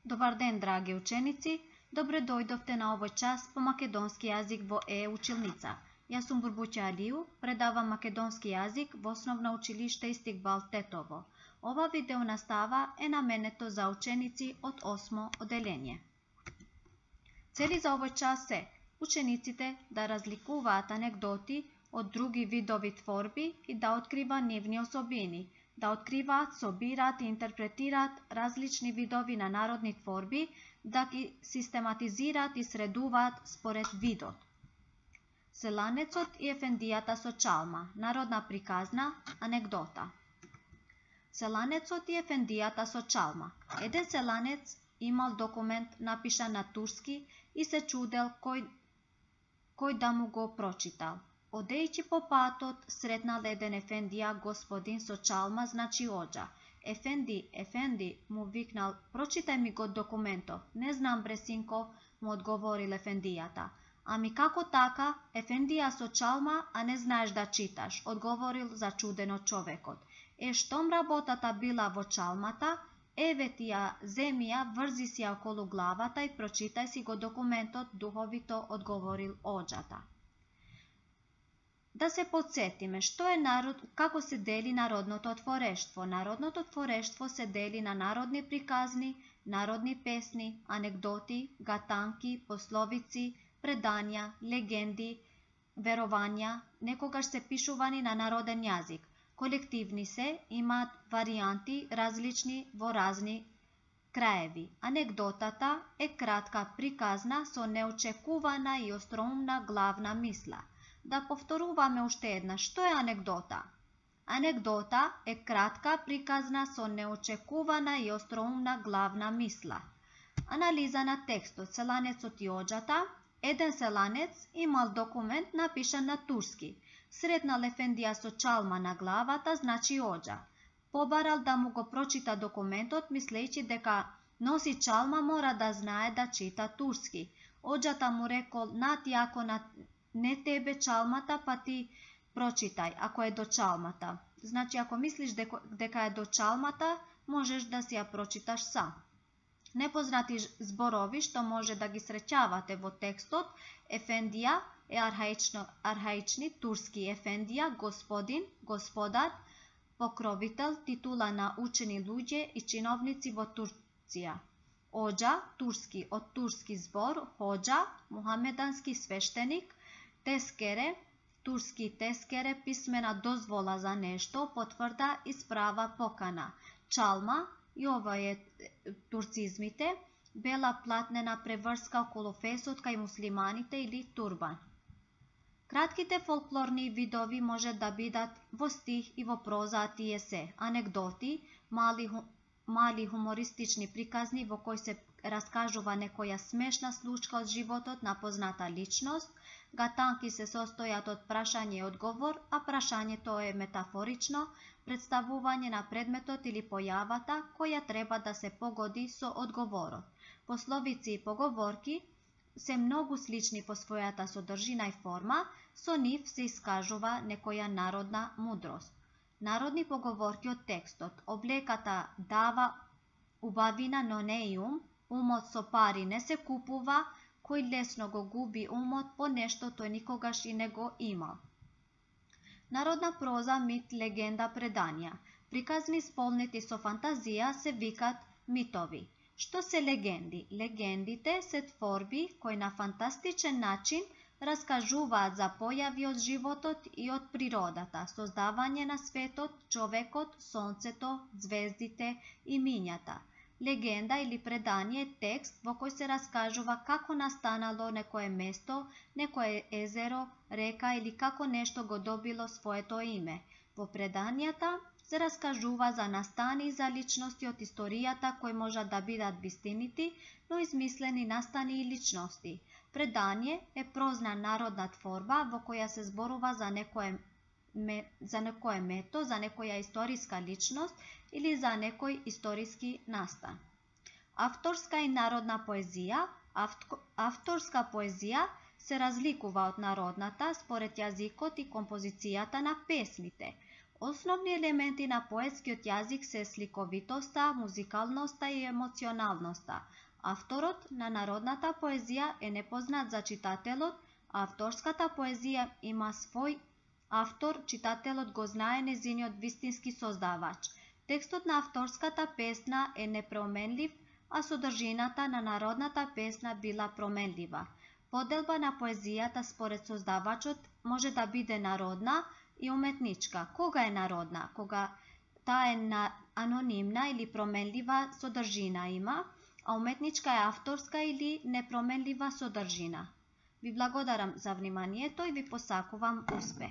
Добар ден, драги ученици! Добре дојдовте на овој час по македонски јазик во училница. Јас сум Бурбуќа Алију, предавам македонски јазик во Основно училиште Истикбал Тетово. Ова видео настава е наменето за ученици од 8 оделение. Цели за овој час се учениците да разликуваат анегдоти од други видови творби и да открива нивни особини, да откриваат, собираат и интерпретираат различни видови на народни творби, да ги систематизираат и средуваат според видот. Селанецот и ефендијата со чалма, народна приказна, анегдота. Селанецот и ефендијата со чалма. Еден селанец имал документ напишан на турски и се чудел кој да му го прочитал. Одејќи по патот, сретнал еден ефендија, господин со чалма, значи оџа. Ефенди, му викнал, прочитај ми го документов. Не знам, бре синко, му одговорил ефендијата. Ами како така, ефендија со чалма, а не знаеш да читаш, одговорил зачудено човекот. Штом работата била во чалмата, еве ти ја, земи ја, врзи си ја околу главата и прочитај си го документот, духовито одговорил оџата. Да се подсетиме, како се дели народното творештво. Народното творештво се дели на народни приказни, народни песни, анегдоти, гатанки, пословици, предања, легенди, верувања, некогаш се пишувани на народен јазик. Колективни се, имаат варијанти различни во разни краеви. Анегдотата е кратка приказна со неочекувана и остроумна главна мисла. Да повторуваме уште една. Што е анегдота? Анегдота е кратка приказна со неочекувана и остроумна главна мисла. Анализа на текстот. Селанецот и оџата. Еден селанец имал документ напишан на турски. Сретнал ефендија со чалма на главата, значи оџа. Побарал да му го прочита документот, мислејќи дека носи чалма, мора да знае да чита турски. Оџата му рекол, нати ако не тебе чалмата, па ти прочитај, ако е до чалмата. Значи, ако мислиш дека е до чалмата, можеш да си ја прочиташ сам. Непознати зборови што може да ги среќавате во текстот. Ефендија е архаични турски ефендија, господин, господар, покровител, титула на учени луѓе и чиновници во Турција. Оџа, турски, од турски збор, хоџа, мухамедански свештеник. Тескере, турски тескере, писмена дозвола за нешто, потврда, исправа, покана. Чалма, и ова е турцизмите, бела платнена преврска околу фесот кај муслиманите или турбан. Кратките фолклорни видови може да бидат во стих и во проза, а тие се анегдоти, мали хумористични приказни во кои се раскажува некоја смешна случка од животот на позната личност. Гатанки се состојат од прашање и одговор, а прашањето е метафорично, представување на предметот или појавата која треба да се погоди со одговорот. Пословици и поговорки се многу слични по својата содржина и форма, со нив се искажува некоја народна мудрост. Народни поговорки од текстот. Облеката дава убавина, но не и умот со пари не се купува, кој лесно го губи умот по нешто тој никогаш и не го имал. Народна проза, мит, легенда, предања. Приказни сполнети со фантазија се викат митови. Што се легенди? Легендите се творби кои на фантастичен начин раскажуваат за појави од животот и од природата, создавање на светот, човекот, сонцето, звездите и мињата. Легенда или предање е текст во кој се раскажува како настанало некое место, некое езеро, река или како нешто го добило своето име. Во предањата се раскажува за настани и за личности од историјата кои можат да бидат вистинити, но измислени настани и личности. Предање е прозна народна творба во која се зборува за некое мето, за некоја историска личност или за некој историски настан. Авторска и народна поезија. Авторска поезија се разликува од народната според јазикот и композицијата на песните. Основни елементи на поетскиот јазик се сликовитоста, музикалноста и емоционалноста. Авторот на народната поезија е непознат за читателот, а авторската поезија има свој автор, читателот го знае незиниот вистински создавач. Текстот на авторската песна е непроменлив, а содржината на народната песна била променлива. Поделба на поезијата според создавачот може да биде народна и уметничка. Кога е народна? Кога таа е анонимна или променлива содржина има, а уметничка е авторска или непроменлива содржина. Ви благодарам за вниманието и ви посакувам успех.